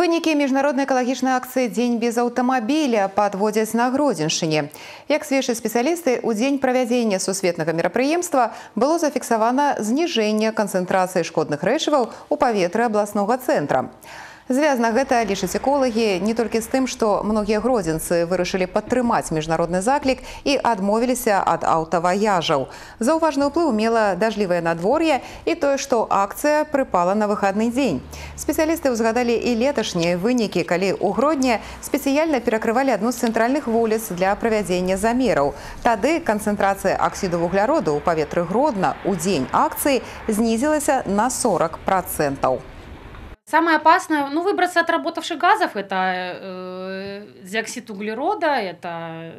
Вынікі міжнароднай экалагічнай акцыі «Дзень без аўтамабіля» падводзяць на Гродзеншчыне. Як сведчаць спецыялісты, у дзень правядзення сусветнага мерапрыемства было зафіксавана зніжэнне канцэнтрацыі шкодных рэчываў у паветры абласнога цэнтра. Звязана гэта, лічаць эколагі, не толькі з тым, што многія гродзенцы вырашылі падтрымаць міжнародны заклік і адмовіліся ад аўтаваяжаў. Заўважны ўплыў мела дажджлівае надвор'е і тое, што акцыя прыпала на выхадны дзень. Спецыялісты ўзгадалі і леташнія вынікі, калі ў Гродні спецыяльна перакрывалі адну з цэнтральных вуліц для правядзення замераў. Тады канцэнтрацыя аксіду вугляроду ў паветры Гродна ў дзень акцыі знізілася на 40%. Самое опасное, выбросы отработавших газов, это диоксид углерода, это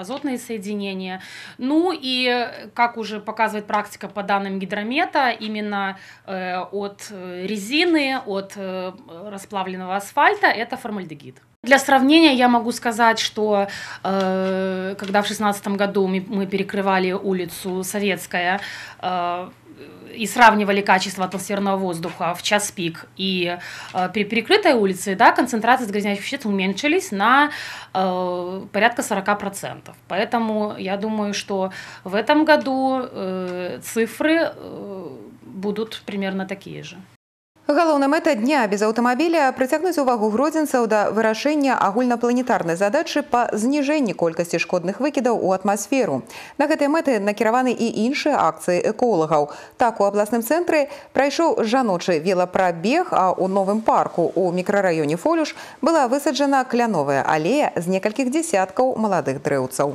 азотные соединения. И, как уже показывает практика по данным Гидромета, именно от резины, от расплавленного асфальта, это формальдегид. Для сравнения я могу сказать, что когда в 2016 году мы перекрывали улицу Советская и сравнивали качество атмосферного воздуха в час пик и при перекрытой улице, концентрации загрязняющих веществ уменьшились на порядка 40%. Поэтому я думаю, что в этом году цифры будут примерно такие же. Галоўная мэта дня без аўтамабіля прыцягнуць увагу гродзенцаў да вырашэння агульнапланетарнай задачы па зніжэнні колькасці шкодных выкідаў у атмасферу. На гэтай мэты накіраваны і іншыя акцыі эколагаў. Так, у абласным цэнтры прайшоў жаночы велапрабег, а ў новым парку у мікрараёне Фолюш была высаджана кляновая алея з некалькіх дзесяткаў маладых дрэўцаў.